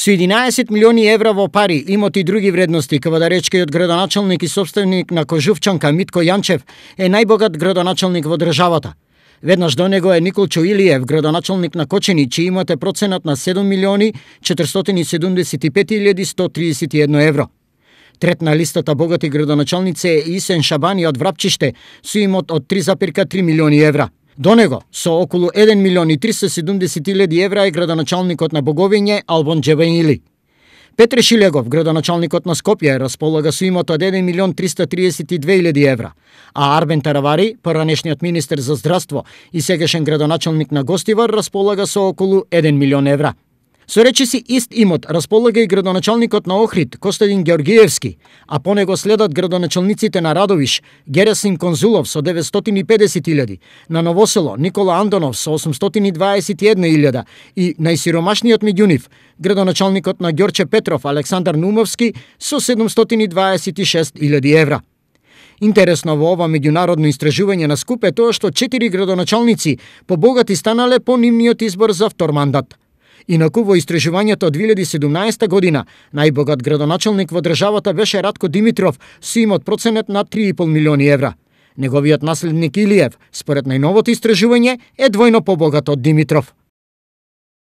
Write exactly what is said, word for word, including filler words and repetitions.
Со единаесет милиони евра во пари, имоти и други вредности, кавадаречкиот градоначалник и собственик на Кожувчанка Митко Јанчев е најбогат градоначалник во државата. Веднаш до него е Николчо Илиев, градоначалник на Кочени, чиј имот е проценат на седум милиони четиристотини седумдесет и пет илјади сто тридесет и едно евро. Трет на листата богати градоначалници е Исен Шабани од Врапчиште со имот од три запирка три милиони евра. До него, со околу еден милион и триста и седумдесет илјади евра е градоначалникот на Боговиње Албон Џебаили. Петре Шилегов, градоначалникот на Скопје, располага со имот од еден милион триста тридесет и две илјади евра, а Арбен Таравари, поранешниот министер за здравство и сегашен градоначалник на Гостивар, располага со околу еден милион евра. Со речиси ист имот располага и градоначалникот на Охрид, Костадин Георгиевски, а по него следат градоначалниците на Радовиш, Герасим Конзулов со деветстотини и педесет илјади, на Новосело Никола Андонов со осумстотини и дваесет и една илјада и најсиромашниот меѓу нив, градоначалникот на Ѓорче Петров Александар Нумовски со седумстотини дваесет и шест илјади евра. Интересно во ова меѓународно истражување на Скуп е тоа што четири градоначалници побогати станале по нивниот избор за втор мандат. Инаку во истражувањето од две илјади и седумнаесета година најбогат градоначалник во државата беше Радко Димитров со имот проценет на три и пол милиони евра. Неговиот наследник Илиев, според најновото истражување, е двојно побогат од Димитров.